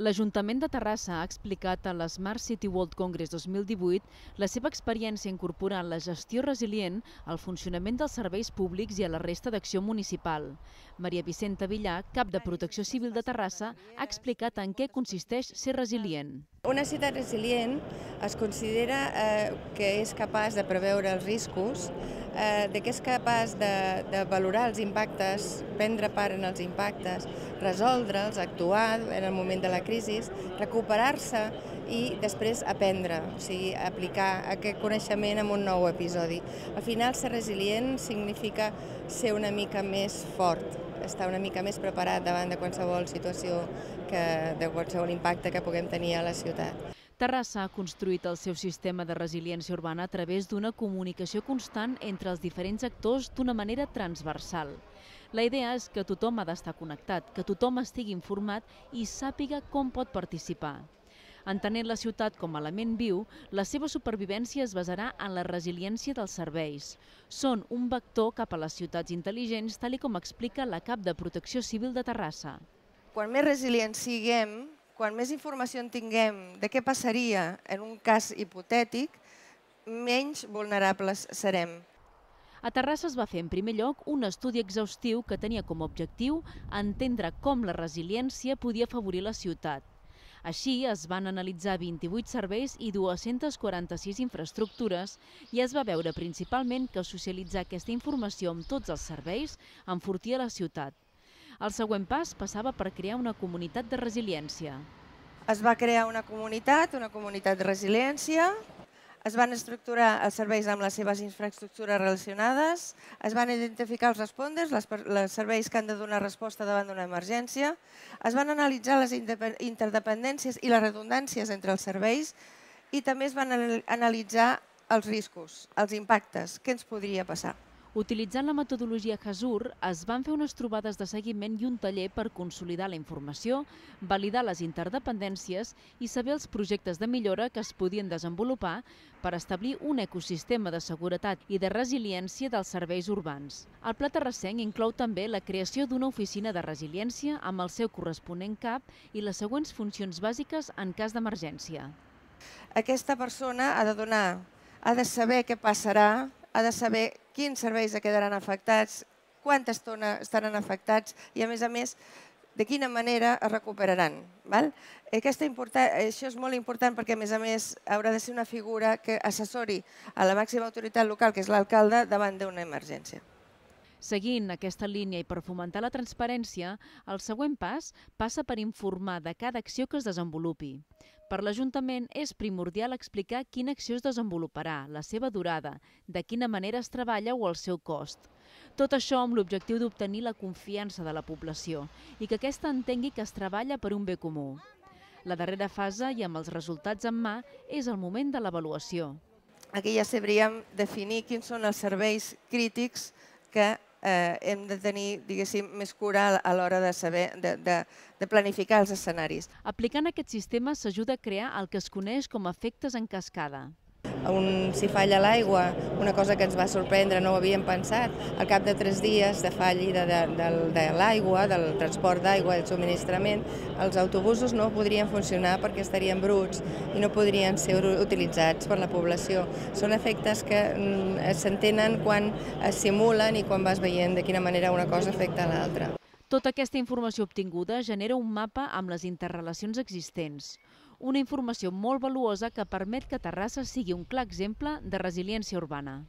L'Ajuntament de Terrassa ha explicat a l'Smart City World Congress 2018 la seva experiència incorporant la gestió resilient al funcionament dels serveis públics i a la resta d'acció municipal. Maria Vicenta Villar, cap de Protecció Civil de Terrassa, ha explicat en què consisteix ser resilient. Una ciutat resilient es considera que és capaç de preveure els riscos, que és capaç de valorar els impactes, prendre part en els impactes, resoldre'ls, actuar en el moment de la crisi, recuperar-se i després aprendre, o sigui, aplicar aquest coneixement en un nou episodi. Al final, ser resilient significa ser una mica més fort, estar una mica més preparat davant de qualsevol situació, de qualsevol impacte que puguem tenir a la ciutat. Terrassa ha construït el seu sistema de resiliència urbana a través d'una comunicació constant entre els diferents actors d'una manera transversal. La idea és que tothom ha d'estar connectat, que tothom estigui informat i sàpiga com pot participar. Entenent la ciutat com a element viu, la seva supervivència es basarà en la resiliència dels serveis. Són un vector cap a les ciutats intel·ligents, tal com explica la cap de Protecció Civil de Terrassa. Quan més resilients siguem, quan més informació en tinguem de què passaria en un cas hipotètic, menys vulnerables serem. A Terrassa es va fer en primer lloc un estudi exhaustiu que tenia com a objectiu entendre com la resiliència podia afavorir la ciutat. Així es van analitzar 28 serveis i 246 infraestructures i es va veure principalment que socialitzar aquesta informació amb tots els serveis enfortia la ciutat. El següent pas passava per crear una comunitat de resiliència. Es va crear una comunitat de resiliència, es van estructurar els serveis amb les seves infraestructures relacionades, es van identificar els responders, els serveis que han de donar resposta davant d'una emergència, es van analitzar les interdependències i les redundàncies entre els serveis i també es van analitzar els riscos, els impactes, què ens podria passar. Utilitzant la metodologia HAZUR, es van fer unes trobades de seguiment i un taller per consolidar la informació, validar les interdependències i saber els projectes de millora que es podien desenvolupar per establir un ecosistema de seguretat i de resiliència dels serveis urbans. El pla terrassenc inclou també la creació d'una oficina de resiliència amb el seu corresponent CAP i les següents funcions bàsiques en cas d'emergència. Aquesta persona ha de saber què passarà, ha de saber quins serveis quedaran afectats, quanta estona estaran afectats i, a més, de quina manera es recuperaran. Això és molt important perquè, a més, haurà de ser una figura que assessori a la màxima autoritat local, que és l'alcalde, davant d'una emergència. Seguint aquesta línia i per fomentar la transparència, el següent pas passa per informar de cada acció que es desenvolupi. Per l'Ajuntament és primordial explicar quina acció es desenvoluparà, la seva durada, de quina manera es treballa o el seu cost. Tot això amb l'objectiu d'obtenir la confiança de la població i que aquesta entengui que es treballa per un bé comú. La darrera fase i amb els resultats en mà és el moment de l'avaluació. Aquí ja sabríem definir quins són els serveis crítics que hem de tenir, diguéssim, més cura a l'hora de planificar els escenaris. Aplicant aquest sistema s'ajuda a crear el que es coneix com a efectes en cascada. Si falla l'aigua, una cosa que ens va sorprendre, no ho havíem pensat, al cap de 3 dies de fallida de l'aigua, del transport d'aigua, del subministrament, els autobusos no podrien funcionar perquè estarien bruts i no podrien ser utilitzats per la població. Són efectes que s'entenen quan es simulen i quan vas veient de quina manera una cosa afecta a l'altra. Tota aquesta informació obtinguda genera un mapa amb les interrelacions existents. Una informació molt valuosa que permet que Terrassa sigui un clar exemple de resiliència urbana.